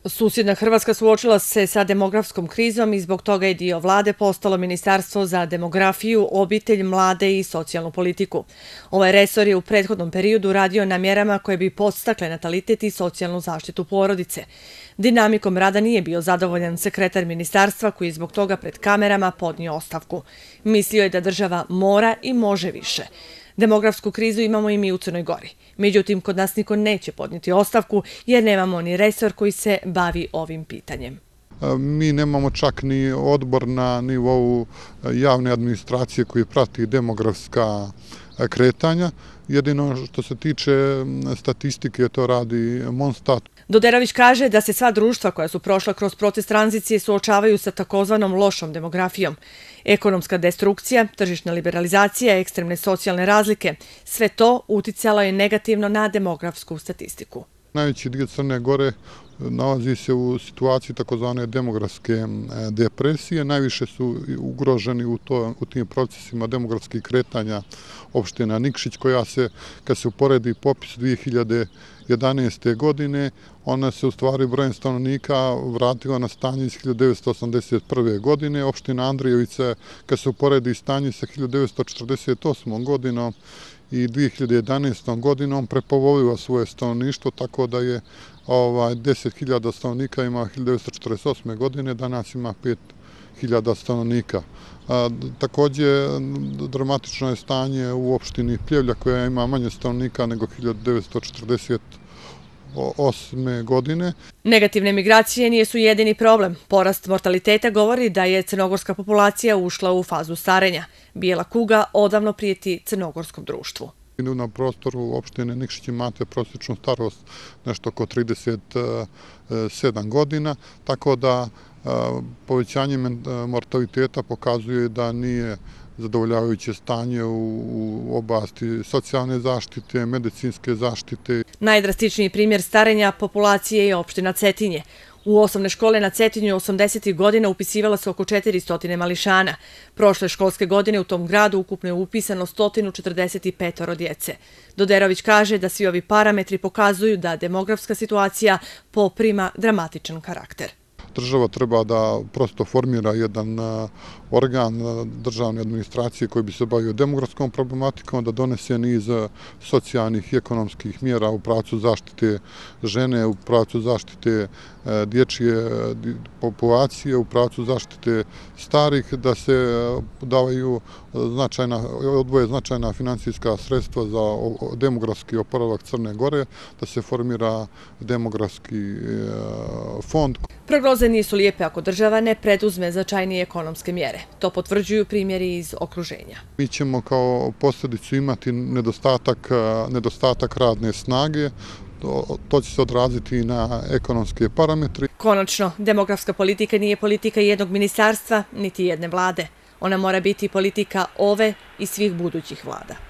Susjedna Hrvatska suočila se sa demografskom krizom i zbog toga je dio vlade postalo Ministarstvo za demografiju, obitelj, mlade i socijalnu politiku. Ovaj resor je u prethodnom periodu radio na mjerama koje bi podstakle natalitet i socijalnu zaštitu porodice. Dinamikom rada nije bio zadovoljan sekretar ministarstva koji je zbog toga pred kamerama podnio ostavku. Mislio je da država mora i može više. Demografsku krizu imamo i mi u Crnoj Gori. Međutim, kod nas niko neće podnijeti ostavku jer nemamo ni resor koji se bavi ovim pitanjem. Mi nemamo čak ni odbor na nivou javne administracije koji prati demografska kretanja. Jedino što se tiče statistike, to radi Monstat. Doderović kaže da se sva društva koja su prošla kroz proces tranzicije suočavaju sa takozvanom lošom demografijom. Ekonomska destrukcija, tržišna liberalizacija, ekstremne socijalne razlike, sve to uticalo je negativno na demografsku statistiku. Najveći dio Crne Gore nalazi se u situaciji takozvane demografske depresije. Najviše su ugroženi u tim procesima demografskih kretanja opština Nikšić, koja se, kad se uporedi popis 2011. godine, ona se u stvari brojem stanovnika vratila na stanje iz 1981. godine. Opština Andrijevica, kad se uporedi stanje sa 1948. godinom i 2011. godinom, prepolovila svoje stanovništvo, tako da je 10.000 stanovnika ima 1948. godine, danas ima 5.000 stanovnika. Također, dramatično je stanje u opštini Pljevlja, koja ima manje stanovnika nego 1948. godine. Negativne migracije nisu jedini problem. Porast mortaliteta govori da je crnogorska populacija ušla u fazu starenja. Bijela kuga odavno prijeti crnogorskom društvu. Na prostoru opštine Nikšić imate prosječnu starost nešto oko 37 godina, tako da povećanje mortaliteta pokazuje da nije zadovoljavajuće stanje u oblasti socijalne zaštite, medicinske zaštite. Najdrastičniji primjer starenja populacije je opština Cetinje. U osnovne škole na Cetinju 80. godina upisivala se oko 400 mališana. Prošle školske godine u tom gradu ukupno je upisano 145 djece. Doderović kaže da svi ovi parametri pokazuju da demografska situacija poprima dramatičan karakter. Država treba da prosto formira jedan organ državne administracije koji bi se bavio demografskom problematikom, da donese niz socijalnih i ekonomskih mjera u pravcu zaštite žene, u pravcu zaštite dječje populacije, u pravcu zaštite starih, da se odvoje značajna financijska sredstva za demografski oporavak Crne Gore, da se formira demografski fond. Prognoze nisu lijepe ako država ne preduzme značajnije ekonomske mjere. To potvrđuju primjeri iz okruženja. Mi ćemo kao posljedicu imati nedostatak radne snage. To će se odraziti i na ekonomske parametre. Konačno, demografska politika nije politika jednog ministarstva, niti jedne vlade. Ona mora biti politika ove i svih budućih vlada.